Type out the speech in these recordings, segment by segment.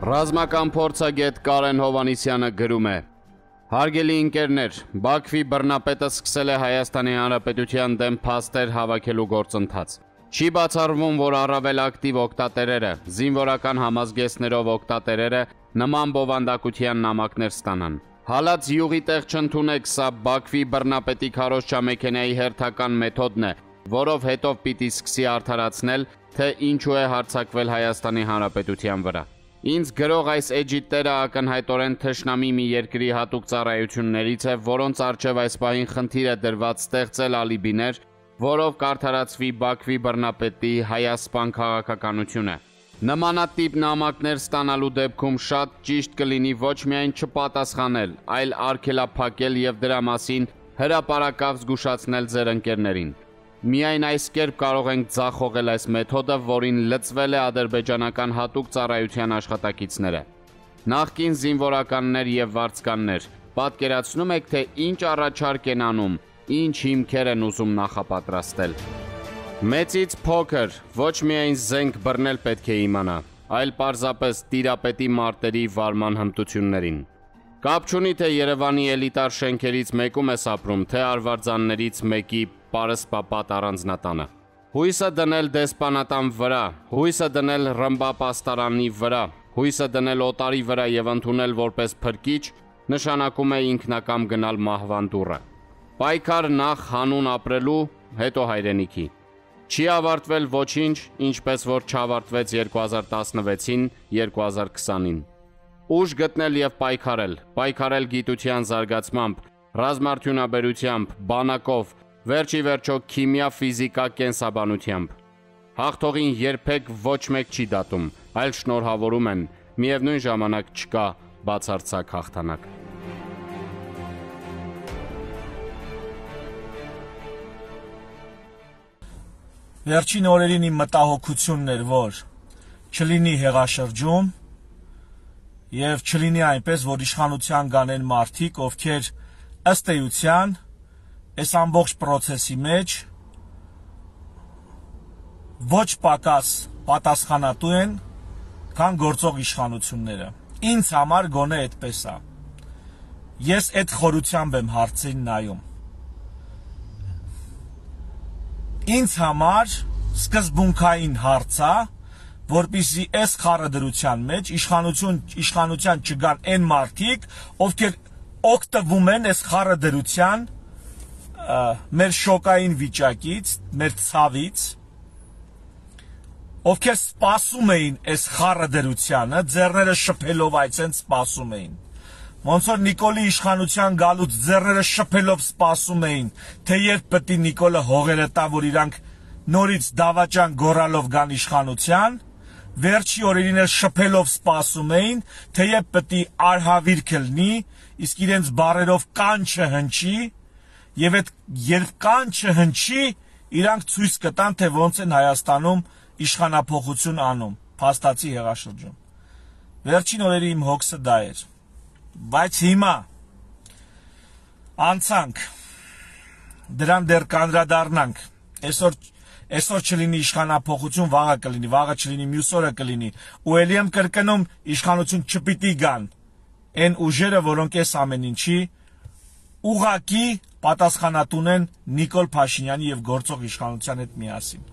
Ռազմական փորձագետ Կարեն Հովհաննիսյանը գրում է. Հարգելի ընկերներ, Բաքվի բռնապետը սկսել է Հայաստանի Հանրապետության դեմ փաստեր հավաքելու գործընթաց։ Չի բացառվում, որ առավել ակտիվ օգտատերերը, զինվորական համազգեստներով օգտատերերը նման բովանդակության նամակներ ստանան։ Հալած յուղի տեղ չընդունեք, սա Բաքվի բռնապետի քարոզչամեքենայի հերթական մեթոդն է, որով հետո պիտի սկսի արդարացնել, թե ինչու է հարձակվել Հայաստանի Հանրապետության վրա։ Ինձ գրող այս էջիտները ակնհայտորեն թշնամի մի երկրի հատուկ ծառայություններից է, որոնց առջև այս պահին խնդիր է դրված ստեղծել ալիբիներ, որով կարդարացվի Բաքվի բռնապետի հայասպան քաղաքականությունը։ Նմանատիպ նամակներ ստանալու դեպքում շատ ճիշտ կլինի ոչ միայն չպատասխանել, այլ արգելափակել եւ դրա մասին հրապարակավ զգուշացնել ձեր ընկերներին։ Միայն այս կերպ կարող ենք ձախողել այս մեթոդը, որին լծվել է ադրբեջանական հատուկ ծառայության աշխատակիցները։ Նախկին զինվորականներ եւ վարձկաններ, պատկերացնում եք, թե ինչ առաջարկ են անում, ինչ հիմքեր են ուզում նախապատրաստել։ Մեծից փոքր, ոչ միայն զենք բռնել պետք է իմանա, այլ պարզապես տիրապետի մարտերի վարման հմտություններին։ Կապ չունի, թե Երևանի էլիտար շենքերից մեկում ես ապրում, թե արվարձաններից մեկի պարսպապատ առանձնատանը։ Հույսը դնել դեսպանատան վրա, հույսը դնել ռմբապաստարանի վրա, հույսը դնել օտարի վրա եւ ընդունել որպես փրկիչ նշանակում է ինքնակամ գնալ մահվան դուռը։ Պայքար նախ հանուն ապրելու, հետո հայրենիքի։ Չի ավարտվել ոչինչ, ինչպես որ չավարտվեց 2016-ին, 2020-ին։ Ուժ գտնել եւ պայքարել գիտության զարգացմամբ, ռազմարդյունաբերությամբ, բանակով, վերջի վերջո քիմիա, ֆիզիկա, կենսաբանությամբ։ Հաղթողին երբեք ոչ մեկ չի դատում, այլ շնորհավորում են, միևնույն ժամանակ չկա բացարձակ հաղթանակ։ Վերջին օրերին իմ մտահոգությունն էր, որ չլինի հեղաշրջում եւ չլինի այնպես, որ իշխանության գանեն մարդիկ, ովքեր ըստ էության այս ամբողջ process-ի մեջ ոչ պակաս պատասխանատու են, քան գործող իշխանությունները։ Ինձ համար գոնե այդպես է։ Ես այդ խորությամբ եմ հարցին նայում։ Ինձ համար սկզբունքային հարց է, որպեսզի այս խառը մեջ իշխանության չգան այն մարդիկ, ովքեր օգտվում են այս խառը մեր շոկային վիճակից, մեր ցավից, ովքեր սպասում էին այս խառը ձեռները շփելով այցեն սպասում էին։ Ոնց որ Նիկոլի իշխանության գալուց ձեռները շփելով սպասում էին, թե երբ պետք է Նիկոլը հողերը տա, որ իրանք նորից դավաճան գոռալով գան իշխանության, վերջի օրերին էլ շփելով սպասում էին, թե երբ պետք է արհավիրք լինի, իսկ իրենց բարերով կան չհնչի, եւ այդ երբ կան չհնչի, իրանք ցույց կտան, թե ոնց են Հայաստանում իշխանափոխություն անում, փաստացի հեղաշրջում։ Վերջին օրերի իմ հոգսը դա էր։ Բայց հիմա անցանք, դրան դեռ կանդրադառնանք, այսօր չլինի իշխանափոխություն, վաղը կլինի, վաղը չլինի, մյուս օրը կլինի, ու ելի եմ կրկնում, իշխանություն չպիտի գան այն ուժերը, որոնք այս ամեն ինչի ուղղակի պատասխանատուն են Նիկոլ Փաշինյանի եւ գործող իշխանության հետ միասին։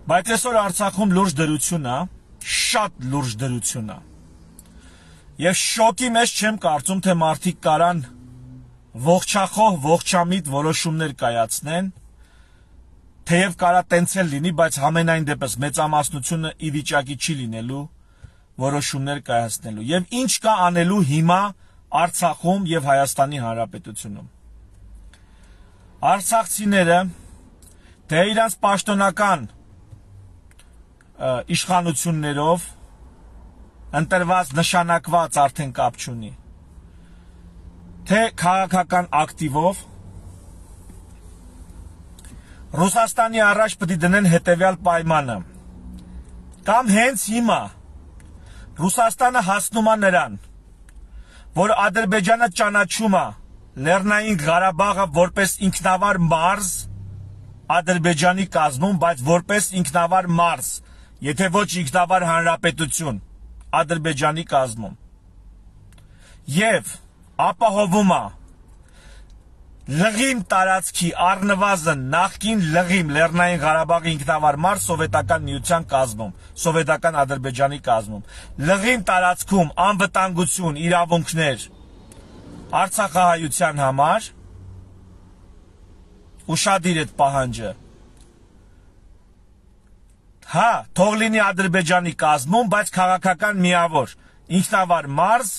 Բայց այսօր Արցախում լուրջ դրություն է, շատ լուրջ դրություն է։ Եվ շոկի մեջ չեմ կարծում, թե մարդիկ կարան ողջախոհ, ողջամիտ որոշումներ կայացնեն, թեև կարա տենց էլ լինի, բայց համենայն դեպս մեծամասնությունը ի վիճակի չի լինելու որոշումներ կայացնելու։ Եվ ինչ կա անելու հիմա Արցախում եւ Հայաստանի Հանրապետությունում։ Արցախցիները թե իրանց պաշտոնական իշխանություններով ընտրված նշանակված արդեն կապ չունի, թե քաղաքական ակտիվով Ռուսաստանի առաջ պետք է դնեն հետևյալ պայմանը, կամ հենց հիմա Ռուսաստանը հասնում է նրան, որ Ադրբեջանը ճանաչում է Լեռնային Ղարաբաղը որպես ինքնավար մարզ Ադրբեջանի կազմում, բայց որպես ինքնավար մարզ, եթե ոչ ինքնավար հանրապետություն։ Ադրբեջանի կազմում եւ ապահովում է Լղիմ տարածքի առնվազն նախկին Լղիմ Լեռնային Ղարաբաղի ինքնավար մարզ սովետական միության կազմում, սովետական Ադրբեջանի կազմում, Լղիմ տարածքում անվտանգություն, իրավունքներ Արցախահայության համար, ուշադիր այդ պահանջը, հա, թող լինի Ադրբեջանի կազմում, բայց քաղաքական միավոր, ինքնավար մարզ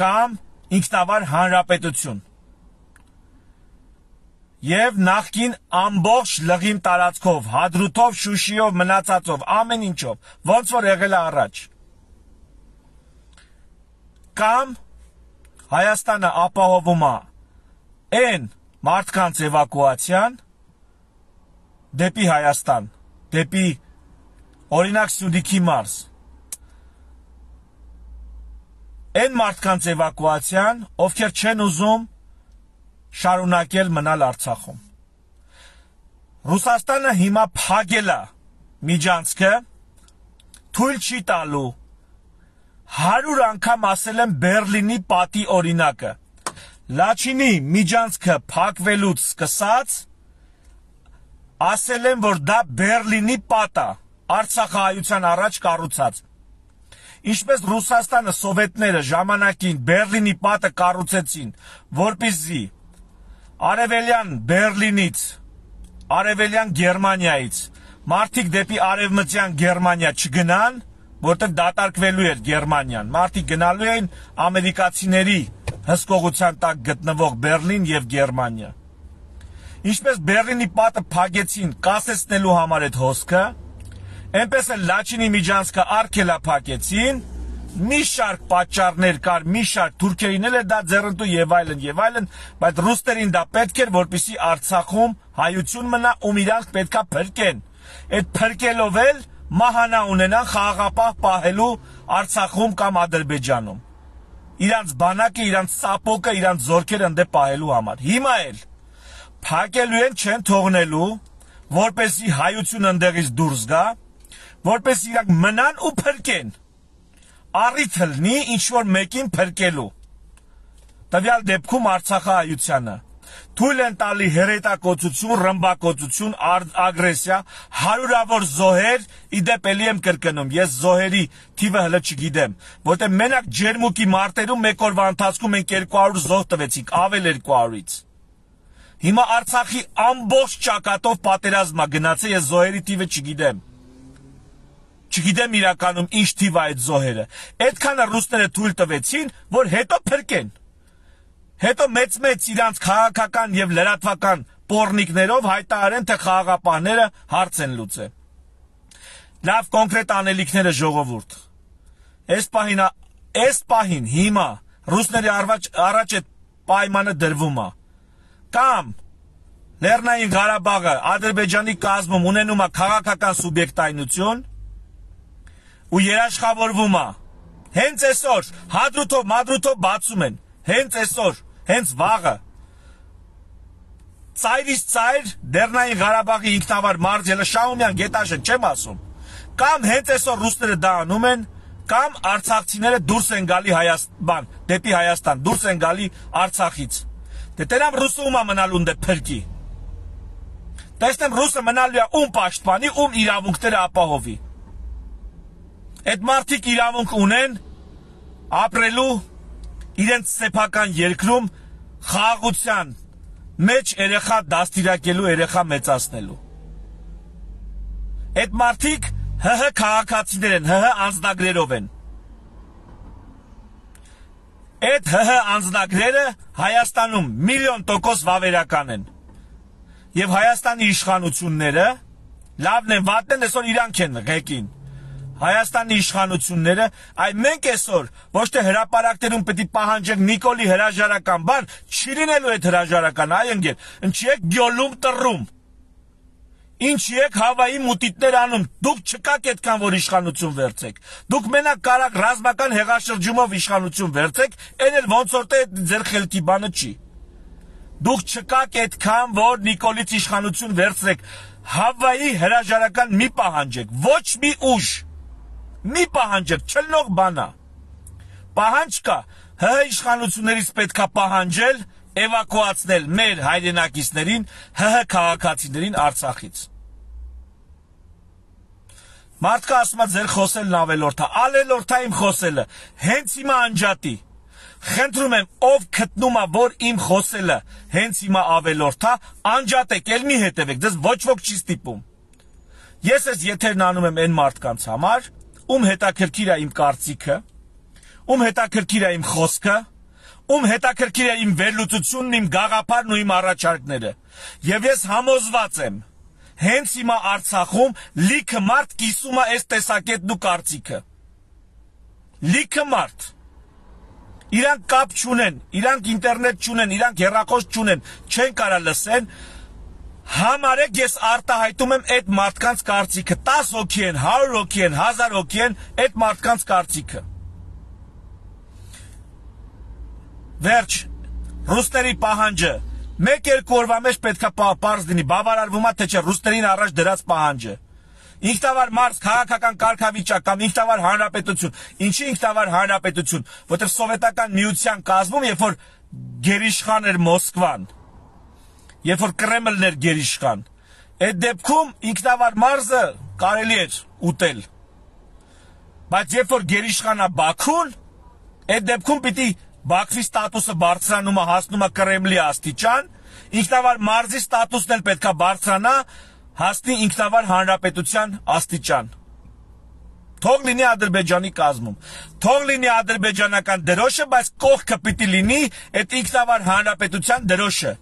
կամ ինքնավար հանրապետություն եւ նախկին ամբողջ Լղիմ տարածքով, Հադրութով, Շուշիով, մնացածով, ամեն ինչով, ոնց որ եղել է առաջ։ Կամ Հայաստանը ապահովում է այն մարդկանց էվակուացիան դեպի Հայաստան, դեպի օրինակ Սյունիքի մարզ։ Այն մարդկանց էվակուացիան, ովքեր չեն ուզում շարունակել մնալ Արցախում։ Ռուսաստանը հիմա փակել է միջանցքը, թույլ չի տալու 100 անգամ ասել եմ Բերլինի պատի օրինակը։ Լաչինի միջանցքը փակվելուց սկսած ասել եմ, որ դա Բերլինի պատ է, Արցախահայության առաջ կառուցած։ Ինչպես Ռուսաստանը սովետները ժամանակին Բերլինի պատը կառուցեցին, որպեսզի Արևելյան Բերլինից, Արևելյան Գերմանիայից մարդիկ դեպի Արևմտյան Գերմանիա չգնան, որտեղ դատարկվելու էր Գերմանիան։ Մարդիկ գնալու էին ամերիկացիների հսկողության տակ գտնվող Բերլին եւ Գերմանիա։ Ինչպես Բերլինի պատը փակեցին կասեցնելու համար այդ հոսքը, այնպես էլ Լաչինի միջանցքը արգելա փակեցին, մի շարք պատճառներ կար, մի շարք թուրքերին էլ դա ձեռնտու եւ այլն, բայց ռուսներին դա պետք էր, որպեսզի Արցախում հայություն մնա, ում իրանք պետքա փրկեն։ Այդ փրկելով էլ մահանա ունենան խաղաղապահ պահելու Արցախում կամ Ադրբեջանում։ Իրանց բանակը, իրանց սապոկը, իրանց զորքերը ընդե պահելու համար։ Հիմա էլ փակելու են, չեն թողնելու, որպեսզի հայություն ընդեղից դուրս գա, որպեսզի իրանք մնան ու փրկեն։ Առիթ լինի ինչ-որ մեկին փրկելու։ Տվյալ դեպքում Արցախահայությանը թույլ են տալի հերետակոծություն, ռմբակոծություն, ագրեսիա, հարյուրավոր զոհեր, իդեպ էլի եմ կրկնում, ես զոհերի թիվը հլը չգիտեմ, որտեղ մենակ Ջերմուկի մարտերում մեկ օրվա ընթացքում մենք 200 զոհ տվեցինք, ավել 200-ից։ Հիմա Արցախի ամբողջ ճակատով պատերազմա գնացել, ես զոհերի թիվը չգիտեմ։ Չգիտեմ իրականում ինչ թիվ է այդ զոհերը։ Այդքանը ռուսները թույլ տվեցին, որ հետո փրկեն։ Հետո մեծ իրանց քաղաքական եւ լրատվական պոռնիկներով հայտարարեն, թե խաղաղապահները հարց են լուծել։ Լավ կոնկրետ անելիքները ժողովուրդ։ Այս պահին հիմա ռուսների առաջ այդ պայմանը դրվում է։ Կամ Լեռնային Ղարաբաղը Ադրբեջանի կազմում ունենում է քաղաքական սուբյեկտայնություն ու երաշխավորվում է։ Հենց այսօր Հադրութով, Մադրութով բացում են։ Հենց այսօր, հենց վաղը։ Ծայրից ծայր Լեռնային Ղարաբաղի ինքնավար մարզ ելը Շահումյան գետաշեն, չեմ ասում։ Կամ հենց այսօր ռուսները դա անում են, կամ արցախցիները դուրս են գալի դեպի Հայաստան, դուրս են գալի Արցախից։ Դե տերամ ռուսը ում է մնալու դե փրկի։ Տեսնեմ ռուսը մնալու է ում պաշտպանի, ում իրավունքները ապահովի։ Այդ մարդիկ իրավունք ունեն ապրելու իրենց սեփական երկրում խաղաղության մեջ երեխա դաստիարակելու, երեխա մեծացնելու։ Այդ մարդիկ ՀՀ քաղաքացիներ են, ՀՀ անձնագրերով են։ Այդ ՀՀ անձնագրերը Հայաստանում 1,000,000% վավերական են։ Եվ Հայաստանի իշխանությունները լավն են, վատն են, այսօր իրանք են ղեկին։ Հայաստանի իշխանությունները, այ մենք այսօր ոչ թե հրապարակներում պետք է պահանջենք Նիկոլի հրաժարական բան, չի լինելու այդ հրաժարական, այ ընկեր, ինչի եք գյոլում տրում։ Ինչի եք Հավայի մուտիտներ անում, դուք չկաք այդքան, որ իշխանություն վերցեք։ Դուք մենակ կարակ ռազմական հեղաշրջումով իշխանություն վերցեք, այն էլ ոնց որ թե ձեր խելքի բանը չի։ Դուք չկաք այդքան, որ Նիկոլից իշխանություն վերցրեք, Հավայի հրաժարական մի պահանջեք, ոչ մի ուժ։ Մի պահանջեք, չլնող բանա։ Պահանջ կա, ՀՀ իշխանություններից պետքա պահանջել էվակուացնել մեր հայրենակիցներին, ՀՀ քաղաքացիներին Արցախից։ Մարդկա ասում է ձեր խոսելն ավելորդ է, ալելորդ է իմ խոսելը, հենց հիմա անջատի։ Խնդրում եմ, ով գտնում է, որ իմ խոսելը հենց հիմա ավելորդ է, անջատեք, էլ մի հետևեք, դες ոչ ոք չի ստիպում։ Ես ես եթերն անում եմ այն մարդկանց համար, ում հետաքրքիր է իմ կարծիքը, ում հետաքրքիր է իմ խոսքը, ում հետաքրքիր է իմ վերլուծությունն, իմ գաղափարն ու իմ առաջարկները։ Եվ ես համոզված եմ, հենց հիմա Արցախում լիքը մարդ կիսում է այս տեսակետն ու կարծիքը։ Լիքը մարդ։ Իրանք կապ չունեն, իրանք ինտերնետ չունեն, իրանք հեռախոս չունեն, չեն կարա լսեն։ Համարեք ես արտահայտում եմ այդ մարդկանց կարծիքը, 10 հոգի են, 100 հոգի են, 1000 հոգի են, այդ մարդկանց կարծիքը։ Վերջ, ռուսների պահանջը, մեկ-երկու օրվա մեջ պետքա պարզ լինի, բավարարվում է, թե չէ, ռուսներին առաջ դրած պահանջը։ Ինքնավար մարդ, քաղաքական կարգավիճակ կամ ինքնավար հանրապետություն, ինչի ինքնավար հանրապետություն, որտեղ սովետական միության կազմում, երբ որ գերիշխան էր Մոսկվան, երբ որ Կրեմլն էր գերիշխան, այդ դեպքում ինքնավար մարզը կարելի էր ուտել։ Բայց երբ որ գերիշխան է Բաքուն, այդ դեպքում պիտի Բաքվի ստատուսը բարձրանում է, հասնում է Կրեմլի աստիճան, ինքնավար մարզի ստատուսն էլ պետքա բարձրանա, հասնի ինքնավար հանրապետության աստիճան։ Թող լինի Ադրբեջանի կազմում, թող լինի ադրբեջանական դրոշը, բայց կողքը պիտի լինի այդ ինքնավար հանրապետության դրոշը։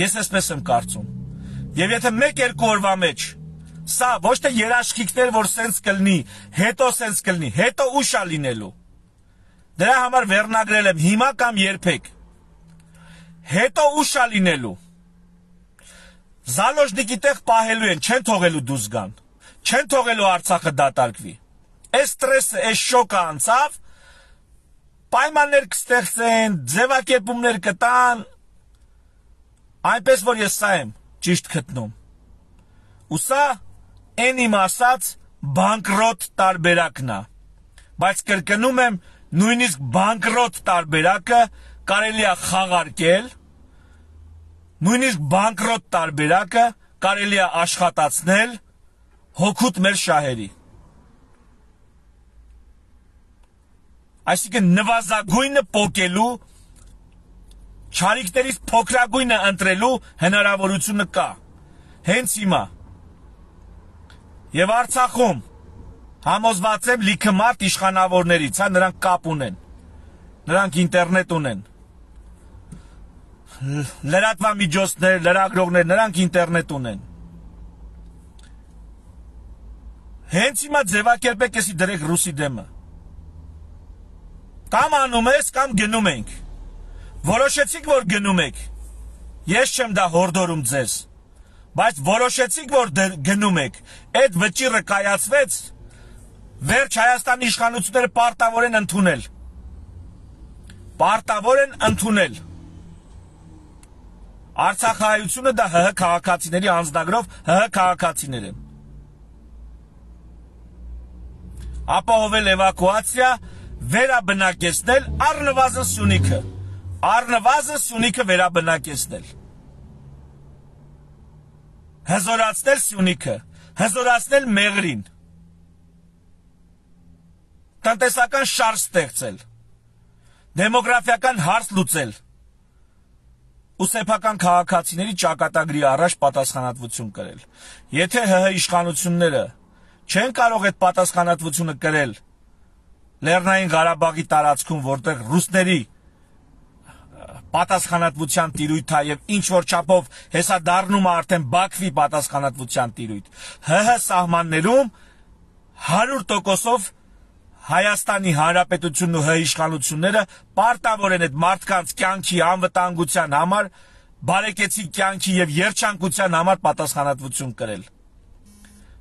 Ես այսպես եմ կարծում։ Եվ եթե մեկ-երկու օրվա մեջ սա ոչ թե երաշխիքներ, որ սենց կլնի, հետո սենց կլնի, հետո ուշ է լինելու։ Դրա համար վերնագրել եմ հիմա կամ երբեք։ Հետո ուշ է լինելու։ Զալոժնիկի տեղ պահելու են, չեն թողելու դուրս գան, չեն թողելու Արցախը դատարկվի։ Այս ստրեսը, այս շոկը անցավ, պայմաններ կստեղծեն, ձևակերպումներ կտան, այնպես որ ես սա եմ ճիշտ գտնում։ Ու սա են իմ ասած բանկրոտ տարբերակն է, բայց կրկնում եմ, նույնիսկ բանկրոտ տարբերակը կարելի է խաղարկել, նույնիսկ բանկրոտ տարբերակը կարելի է աշխատացնել հոգուտ մեր շահերի։ Այսինքն նվազագույնը պոկելու, չարիքներից փոքրագույնը ընտրելու հնարավորությունը կա, հենց հիմա։ Եվ Արցախում համոզված եմ լիքը մարդ իշխանավորներից, նրանք կապ ունեն, նրանք ինտերնետ ունեն, լրատվամիջոցներ, լրագրողներ, նրանք ինտերնետ ունեն։ Հենց հիմա ձևակերպեք եսի դրեք ռուսի դեմը։ Կամ անում ես, կամ գնում ենք։ Որոշեցիք, որ գնում եք։ Ես չեմ դա հորդորում ձեզ։ Բայց որոշեցիք, որ գնում եք, այդ վճիռը կայացվեց, վերջ Հայաստանի իշխանությունները պարտավոր են ընդունել։ Պարտավոր են ընդունել։ Արցախահայությունը դա ՀՀ քաղաքացիների անձնագրով ՀՀ քաղաքացիներ են։ Ապահովել էվակուացիա, վերաբնակեցնել առնվազն Սյունիքը։ Առնվազն Սյունիքը վերաբնակեցնել։ Հզորացնել Սյունիքը, հզորացնել Մեղրին, տնտեսական շարժ ստեղծել, դեմոգրաֆիական հարց լուծել ու սեփական քաղաքացիների ճակատագրի առաջ պատասխանատվություն կրել։ Եթե ՀՀ իշխանությունները չեն կարող այդ պատասխանատվությունը կրել Լեռնային Ղարաբաղի տարածքում, որտեղ ռուսների պատասխանատվության տիրույթ է եւ ինչ որ չափով հեսա դառնում է արդեն Բաքվի պատասխանատվության տիրույթ։ ՀՀ սահմաններում 100%-ով Հայաստանի Հանրապետությունն ու ՀՀ իշխանությունները պարտավոր են այդ մարդկանց կյանքի անվտանգության համար, բարեկեցիկ կյանքի եւ երջանկության համար պատասխանատվություն կրել։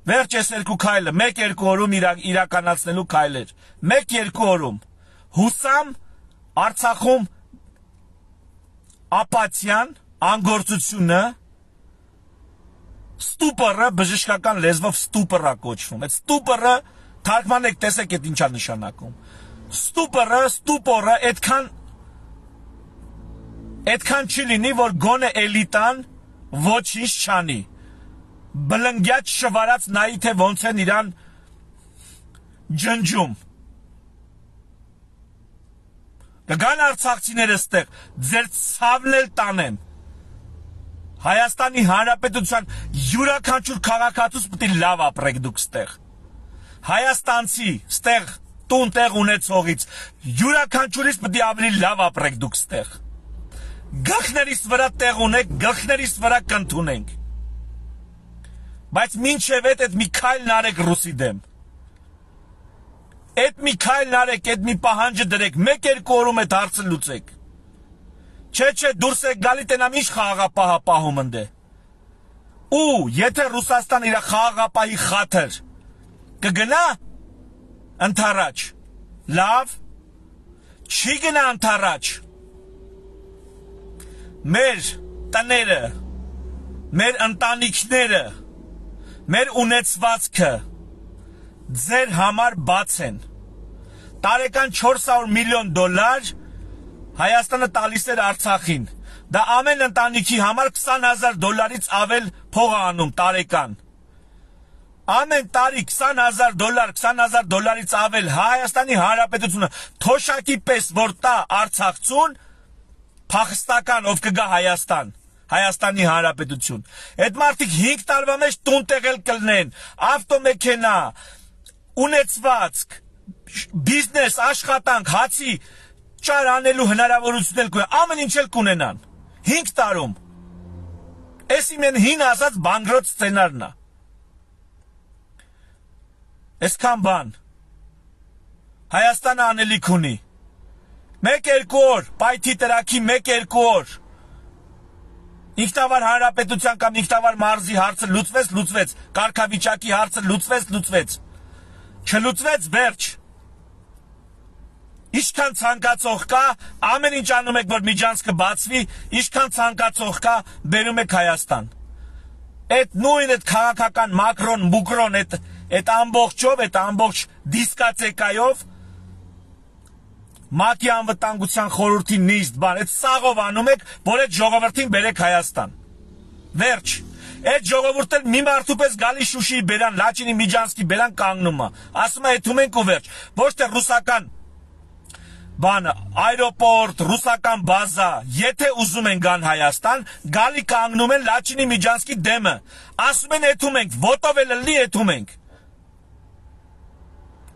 Վերջ այս երկու քայլը, 1-2 օրում իրականացնելու քայլեր։ 1-2 օրում հուսամ Արցախում ապաթիան, անգործությունը Ստուպորը բժշկական լեզվով ստուպոր է կոչվում։ Այդ ստուպորը թարգմանեք տեսեք այդ ինչա նշանակում։ Ստուպորը այդքան չի լինի, որ գոնե էլիտան ոչինչ չանի։ Բլնգյաց շվարած նայի թե ոնց են իրան ջնջում։ Կգան արցախցիները ստեղ, ձեր ցավն էլ տանեն։ Հայաստանի Հանրապետության յուրաքանչյուր քաղաքացուց պետք է լավ ապրեք դուք ստեղ։ Հայաստանցի ստեղ տուն տեղ ունեցողից յուրաքանչյուրից պետք է ավելի լավ ապրեք դուք ստեղ։ Գլխներիս վրա տեղ ունեք, գլխներիս վրա կընդունենք։ Բայց մինչև այդ մի քայլն արեք ռուսի դեմ։ Այդ մի քայլն արեք, այդ մի պահանջը դրեք, 1-2 օրում այդ հարցը լուծեք։ Չէ, դուրս եք գալի տենամ ինչ խաղաղապահ ընդ է։ Ու եթե Ռուսաստան իր խաղաղապահի խաթր կգնա ընթառաջ, լավ, չի գնա ընթառաջ։ Մեր տները, մեր ընտանիքները, մեր ունեցվածքը ձեր համար բաց են։ Տարեկան $400 միլիոն Հայաստանը տալիս էր Արցախին։ Դա ամեն ընտանիքի համար $20,000-ից ավել փող է անում տարեկան։ Ամեն տարի $20,000-ից ավել Հայաստանի Հանրապետությունը թոշակի պես որ տա Արցախցուն, փախստական ով կգա Հայաստան, Հայաստանի Հանրապետություն։ Այդ մարդիկ 5 տարվա մեջ տուն տեղել կլնեն, ավտոմեքենա, ունեցվածք, բիզնես, աշխատանք, հացի ճար անելու հնարավորություն էլ կունենան, ամեն ինչ էլ կունենան։ 5 տարում։ Էսի մեն հին ասած բանկրոտ սցենարն է։ Այսքան բան։ Հայաստանը անելիք ունի։ 1-2 օր, պայթի տրակի 1-2 օր։ Ինքնավար հանրապետության կամ ինքնավար մարզի հարցը լուծվեց, կարգավիճակի հարցը լուծվեց։ Չլուծվեց, վերջ։ Ինչքան ցանկացող կա, ամեն ինչ անում եք, որ միջանցքը բացվի, ինչքան ցանկացող կա, բերում եք Հայաստան։ Այդ նույն այդ քաղաքական մակրոն, այդ ամբողջով, այդ ամբողջ դիսկացեկայով ՄԱԿ-ի անվտանգության խորհրդի նիստ բան, այդ սաղով անում եք, որ այդ ժողովրդին բերեք Հայաստան։ Վերջ։ Այդ ժողովուրդը մի մարդու պես գալի Շուշիի բերան, Լաչինի Միջանցքի բերան կանգնում է։ Ասում է եթում ենք ու վերջ։ Ոչ թե ռուսական բան, այրոպորտ, ռուսական բազա, եթե ուզում են գան Հայաստան, գալի կանգնում են Լաչինի Միջանցքի դեմը։ Ասում են եթում ենք, ոտով էլ լի եթում ենք։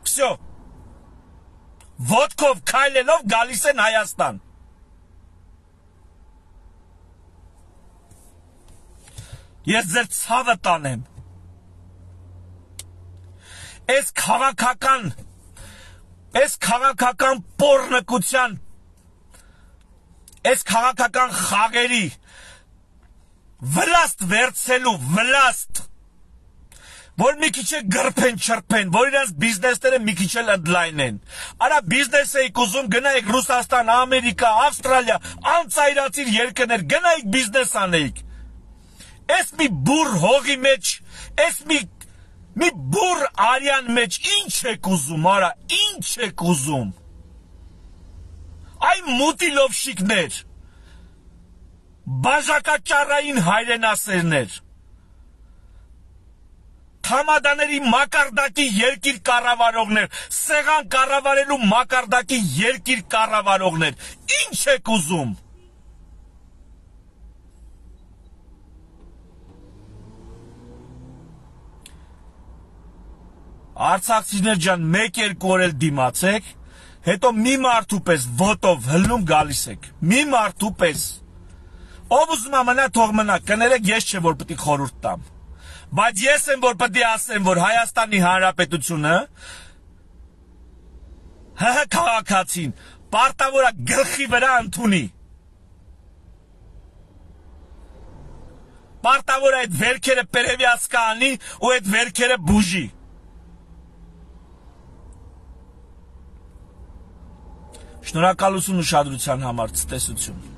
Всё։ Ոտքով քայլելով գալիս են Հայաստան։ Ես ձեր ցավը տանեմ։ Այս քաղաքական պոռնկության, այս քաղաքական խաղերի վլաստ վերցելու վլաստ, որ մի քիչ է գրփեն, չրփեն, որ իրանց բիզնեսները մի քիչ էլ ընդլայնեն։ Արա բիզնես էիք ուզում, գնայիք Ռուսաստան, Ամերիկա, Ավստրալիա, անծայրացիր երկրներ, գնայիք բիզնես անեիք։ Այս մի բուր հողի մեջ, այս մի բուր արյան մեջ ինչ եք ուզում, արա, ինչ եք ուզում։ Այ մուտիլովշիկներ, բաժակաճարային հայրենասերներ, Համադաների մակարդակի երկիր կառավարողներ, սեղան կառավարելու մակարդակի երկիր կառավարողներ, ինչ եք ուզում։ Արցախցիներ ջան, 1-2 օր էլ դիմացեք, հետո մի մարդու պես ոտով հլնում գալիս եք, մի մարդու պես։ Ով ուզում ամենա թող մնա, կներեք ես չէ որ պետք է խորհուրդ տամ։ Բայց ես եմ որ պետք է ասեմ, որ Հայաստանի Հանրապետությունը ՀՀ քաղաքացին պարտավոր է գլխի վրա ընդունի։ Պարտավոր է այդ վերքերը պերևյաց կանի ու այդ վերքերը բուժի։ Շնորհակալություն ուշադրության համար, ցտեսություն։